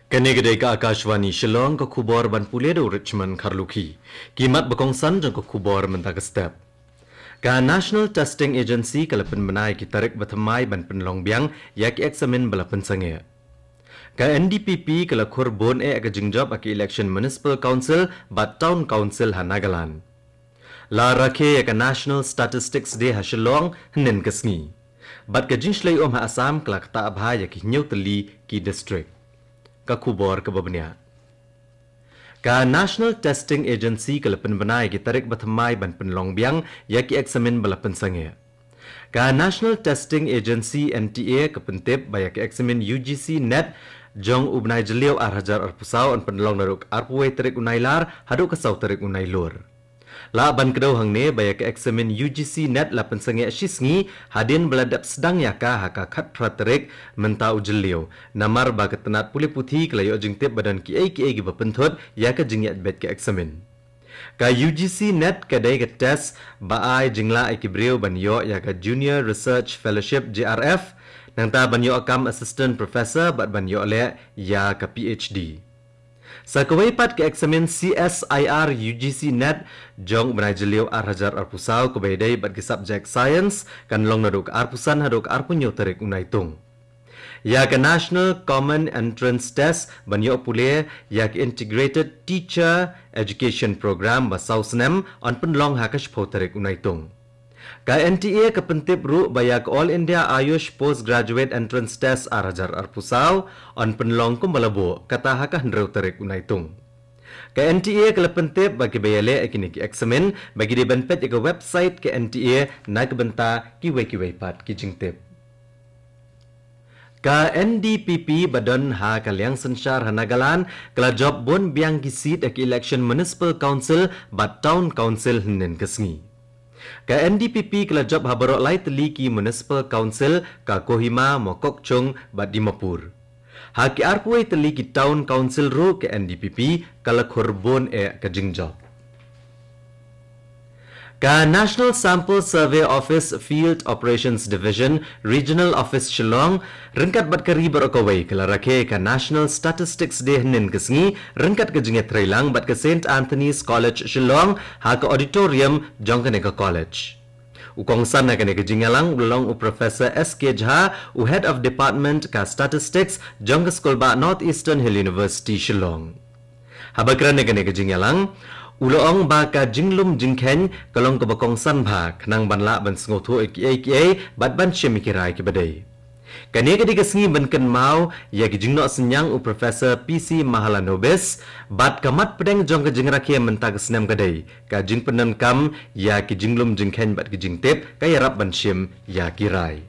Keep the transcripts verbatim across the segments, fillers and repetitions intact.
Kane ka dei ka Akashvani Shillong, ka khubor ban pule da u Richmond Kharlukhi. Ki mat ba kongsan jong ka khubor mynta ka step. Ka National Testing Agency ka la pynbna ïa ki tarik ba thymmai ban pynlong biang ïa ki eksamin ba la pynsangeh. Ka N D P P ka la khur bun eh ka jingjop ha ka election Municipal Council bad Town Council ha Nagaland. La rakhe ïa ka National Statistics Day ha Shillong hynnin ka sngi. Bad ka jingshlei um ha Assam ka la ktah bha ïa ki hynñiew tylli ki district. Ka khubor kaba bniah. Ka National Testing Agency ka la pynbna ïa ki tarik ba thymmai ban pynlong biang ïa ki eksamin ba la pynsangeh. Ka National Testing Agency, N T A, ka pyntip ba ïa ka eksamin U G C NET jong u bnai Jylliew ar hajar arphew saw yn pynlong naduh ka arphew wei tarik u Nailar haduh ka saw tarik u Nailur. Lah ban kdew hangne ba ïa ka eksamin U G C NET la pynsangeh shi sngi hadien ba la dep sdang ïa ka ha ka khatphra tarik mynta u Jylliew, namar ba ka tnat pule puthi ka la ïoh jingtip ba don kiei kiei kiba pynthut ïa ka jingïaid beit ka eksamin. Ka U G C NET ka dei ka test ba ai jinglah ïa ki briew ban ïoh ïa ka Junior Research Fellowship, J R F, nangta ban ïoh kam Assistant Professor bad ban ïoh leh ïa ka P H D. Sa kawei pat ka eksamin C S I R U G C NET jong u bnai Jylliew ar hajar arphew saw kaba ïadei bad ki subject Science kan long naduh ka arphew san haduh ka arphew hynñiew tarik u Naitung. Ïa ka National Common Entrance Test ban ïoh pule ïa ka Integrated Teacher Education Program ba saw snem yn pynlong ha ka shiphew tarik u Naitung. Ka N T A ka pyntip ruh ba ïa ka All India Ayush Postgraduate Entrance Test ar hajar arphew saw yn pynlong kumba la buh, kata ha ka hynriew tarik u Naitung. Ka N T A ka la pyntip ba kiba ïaleh ïa kine ki eksamin ba ki dei ban peit ïa ka website ka N T A na ka bynta kiwei kiwei pat ki jingtip. Ka N D P P ba don ha ka liang synshar ha Nagaland ka la jop bun biang ki seat ha ka election Municipal Council bad Town Council hynnin ka sngi. Ka N D P P ka la jop ha baroh lai tylli ki Municipal Council, ka Kohima, Mokokchung bad Dimapur. Ha ki arphew wei tylli ki Town Council ruh ka N D P P ka la khur bun eh ka jingjop. Ka National Sample Survey Office, Field Operations Division, Regional Office Shillong, ryngkat bad ka ri baroh kawei ka la rakhe ka National Statistics Day hynnin ka sngi ryngkat ka jingïatreilang bad ka Saint Anthony's College Shillong ha ka auditorium jong kane ka college. U kongsan ha kane ka jingïalang u la long u Professor S K Jha, u Head of Department ka Statistics jong ka Skulbah North Eastern Hill University Shillong. Haba kren ha kane ka jingïalang, u la ong ba ka jinglum jingkheiñ ka long kaba kongsan bha khnang ban lah ban sngewthuh ïa kiei kiei bad ban shim ïa ki rai kiba dei. Kane ka dei ka sngi ban kynmaw ïa ki jingnoh synñiang u Professor P C Mahalanobis bad ka mat pdeng jong ka jingrakhe mynta ka snem ka dei ka jingpyndonkam ïa ki jinglum jingkheiñ bad ki jingtip, ka ïarap ban shim ïa ki rai.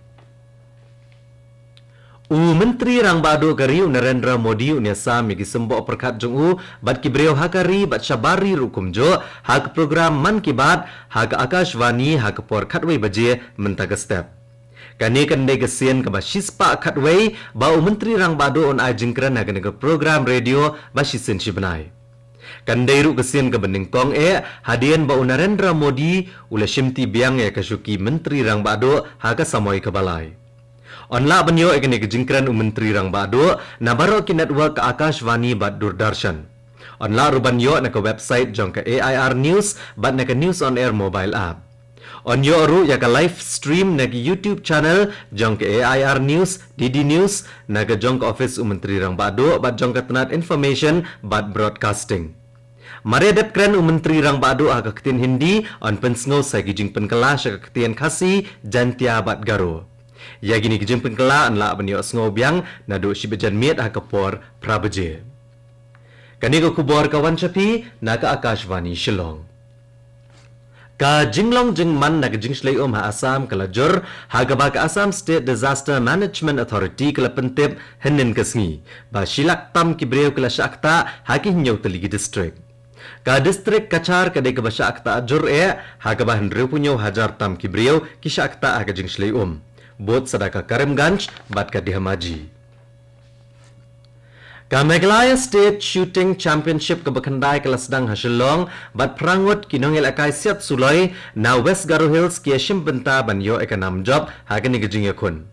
U Myntri Rangbah Duh ka ri u Narendra Modi un ïasam ïa ki symboh pyrkhat jong u bad ki briew ha ka ri bad shabar ri ruh kumjuh ha ka program Mann Ki Baat ha ka Akashvani ha ka por khatwei baje mynta ka step. Kane kan dei ka sien kaba shispah khatwei ba u Myntri Rangbah Duh un ai jingkren ha kane ka program radio ba shisien shibnai. Kan dei ruh ka sien kaba nyngkong eh hadien ba u Narendra Modi u la shimti biang ïa ka shuki Myntri Rangbah Duh ha ka samoi kaba lai. Yn lah ban ïoh ïa kane ka jingkren u Myntri Rangbah Duh na baroh ki network ka Akashvani bad Doordarshan. Yn lah ruh ban ïoh na ka website jong ka A I R News bad na ka News on Air mobile app. Yn ïoh ruh ïa ka live stream na ka YouTube channel jong ka A I R News, D D News, na ka jong ka office u Myntri Rangbah Duh bad jong ka tnat Information bad Broadcasting. Mar ïa dep kren u Myntri Rangbah Duh ha ka ktien Hindi, yn pynsngew sa ki jingpynkylla sha ka ktien Khasi, Jaintia bad Garo. Ïa kine ki jingpynkylla yn lah ban ïohsngew biang naduh shi baje janmiet ha ka por phra baje. Kane ka khubor ka wan sha phi na ka Akashvani Shillong. Ka jinglong jingman na ka jingshlei um ha Assam ka la jur, ha kaba ka Assam State Disaster Management Authority ka la pyntip hynnin ka sngi ba shi lak tam ki briew ki la shah ktah ha ki hynñiew tylli ki district. Ka district Cachar ka dei kaba shah ktah jur eh, ha kaba hynriewphew hynñiew hajar tam ki briew ki shah ktah ha ka jingshlei um. Bud sa da ka Karimganj bad ka Dhemaji. Ka Meghalaya State Shooting Championship kaba khyndai ka la sdang ha Shillong bad phra ngut ki nongïalehkai siat suloi na West Garo Hills ki ïashim bynta ban ïoh ïa ka nam jop ha kane ka jingïakhun.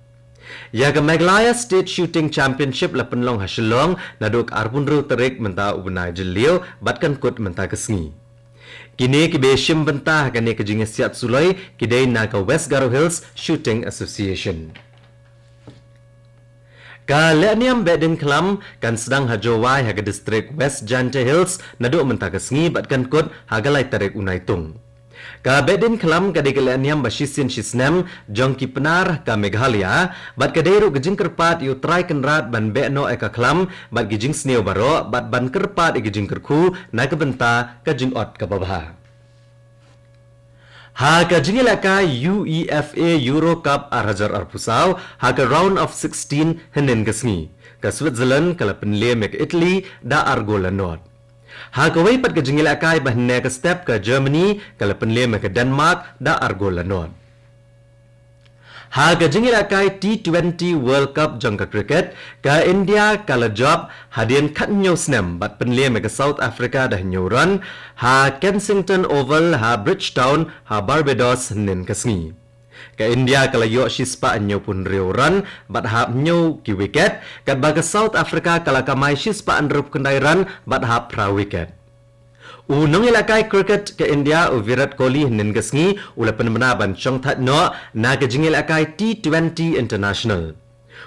Ïa ka Meghalaya State Shooting Championship la pynlong ha Shillong naduh ka arphew hynriew tarik mynta u bnai Jylliew bad kan kut mynta ka sngi. Kine kiba shim bynta ha kane ka jingïasiat suloi ki dei na ka West Garo Hills Shooting Association. Ka lehniam Behdeiñkhlam kan sdang ha Jowai ha ka district West Jaintia Hills naduh mynta ka sngi bad kan kut ha ka lai tarik u Naitung. Ka Behdeiñkhlam ka dei ka lehniam ba shisien shisnem jong ki Pnar ka Meghalaya bad ka dei ruh ka jingkyrpad ïa u Trai Kynrad ban beh noh ïa ka khlam bad ki jingsniew baroh bad ban kyrpad ïa ki jingkyrkhu na ka bynta ka jingot kaba bha. Ha ka jingïalehkai UEFA Euro Cup ar hajar arphew saw ha ka round of sixteen hynnin ka sngi, ka Switzerland ka la pynliem ïa ka Italy da ar gol la nod. Ha kawei pat ka jingïalehkai ba hynne ka step, ka Germany ka la pynliem ïa ka Denmark da ar gol la nod. Ha ka jingïalehkai T twenty World Cup jong ka cricket, ka India ka la jop hadien khathynñiew snem bad pynliem ïa ka South Africa da hynñiew run ha Kensington Oval ha Bridgetown ha Barbados hynnin ka sngi. Ka India ka la ïoh shispah hynñiewphew hynriew run bad hap hynñiew ki wicket, katba ka South Africa ka la kamai shispah hynriewphew khyndai run bad hap phra wicket. U nongïalehkai cricket ka India u Virat Kohli hynnin ka sngi u la pynbna ban shongthait noh na ka jingïalehkai T twenty International.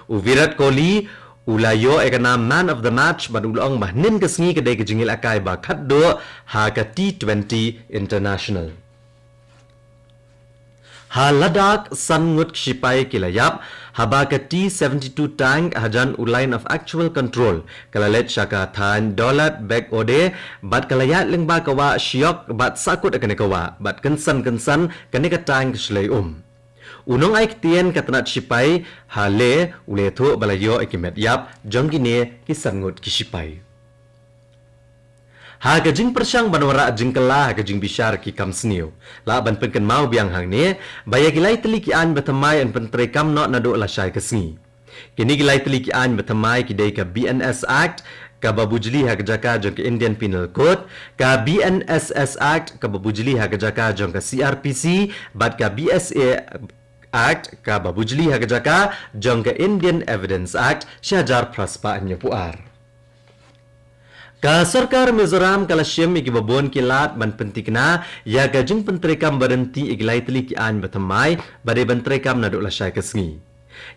U Virat Kohli u la ïoh ïa ka nam Man of the Match bad u la ong ba hynnin ka sngi ka dei ka jingïalehkai ba khatduh ha ka T twenty International. Ha Ladakh san ngut ki shipai ki la ïap haba ka T seventy-two tank hajan u Line of Actual Control ka la leit sha ka thaiñ Dawlat Beg Ode bad ka la ïaid lyngba ka wah shiok bad sahkut ïa kane ka wah bad kynsan kynsan kane ka tank ka shlei um. U nongai ktien ka tnat shipai ha Leh u la ïathuh ba la ïoh ïa ki met ïap jong kine ki san ngut ki shipai. Ha ka jingpyrshang ban wanrah jingkylla ha ka jingbishar ki kam sniew, lah ban pynkynmaw biang hangne ba ïa ki lai tylli ki aiñ ba thymmai yn pyntreikam noh naduh lashai ka sngi. Kine ki lai tylli ki aiñ ba thymmai ki dei ka B N S Act kaba bujli ha ka jaka jong ka Indian Penal Code, ka B N S S Act kaba bujli ha ka jaka jong ka C R P C bad ka B S A Act kaba bujli ha ka jaka jong ka Indian Evidence Act shi hajar phra spah hynñiewphew ar. Ka sorkar Mizoram ka la shim ïa kiba bun ki lad ban pynthikna ïa ka jingpyntreikam ba ryntih ïa ki lai tylli ki aiñ ba thymmai ba dei ban treikam naduh lashai ka sngi.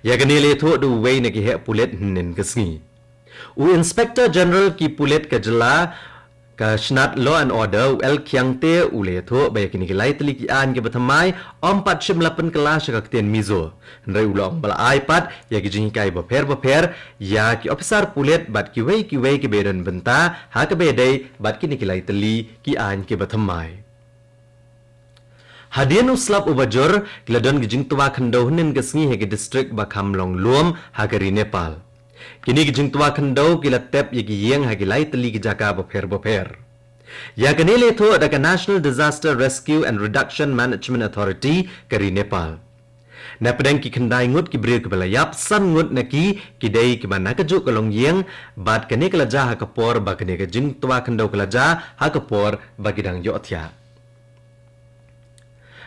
Ïa kane la ïathuh da uwei na ki heh pulit hynnin ka sngi. U Inspector General ki pulit ka jylla ka shnat Law and Order u L Khiangte u la ïathuh ba ïa kine ki lai tylli ki aiñ kiba thymmai ym pat shym la pynkylla sha ka ktien Mizo. Hynrei u la ong ba la ai pat ïa ki jinghikai bapher bapher ïa ki ophisar pulit bad kiwei kiwei kiba ïadon bynta ha kaba ïadei bad kine ki lai tylli ki aiñ kiba thymmai. Hadien u slap uba jur ki la don ki jingtwa khyndew hynnin ka sngi ha ki district ba kham long lum ha ka ri Nepal. Kine ki jingtwa khyndew ki la tep ïa ki ïing ha ki lai tylli ki jaka bapher bapher. Ïa kane la ïathuh da ka National Disaster Rescue and Reduction Management Authority ka ri Nepal. Na pdeng ki khyndai ngut ki briew kiba la ïap, san ngut na ki ki dei kiba na kajuh ka longïing bad kane ka la jia ha ka por ba kane ka jingtwa khyndew ka la jia ha ka por ba ki dang ïohthiah.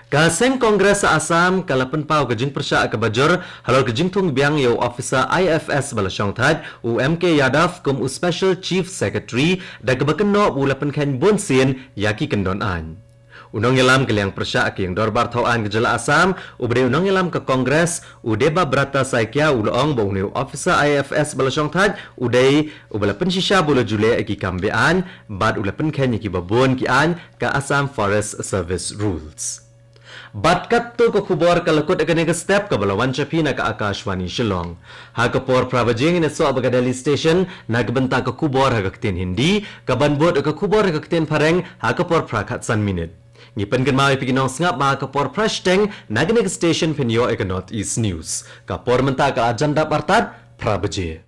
Ka seng Congress Assam ka la pynpaw ka jingpyrshah kaba jur halor ka jingthung biang ïa u officer I F S ba la shongthait u M K Yadav kum u Special Chief Secretary da kaba kynnoh ba u la pynkheiñ bunsien ïa ki kyndon aiñ. U nongïalam ka liang pyrshah ka ïing dorbar thaw aiñ ka jylla Assam uba dei u nongïalam ka Congress u Debabrata Saikia u la ong ba une u officer I F S ba la shongthait u dei uba la pynshisha ba u la ju leh ïa ki kam be-aiñ bad u la pynkheiñ ïa kiba bun ki aiñ ka Assam Forest Service Rules. Bad katto ka khubor ka la kut ha kane ka step kaba la wan sha phi na ka Akashvani Shillong. Ha ka por phra baje ngin ïasoh bad ka Delhi Station na ka bynta ka khubor ha ka ktien Hindi, kaban bud ka khubor ha ka ktien Phareng ha ka por phra khatsan minit. Ngi pynkynmaw ïa phi ki nongsngap ba ha ka por phra shiteng na kane ka station phin ïoh ïa ka North East News. Ka por mynta ka la jan dap artat phra baje.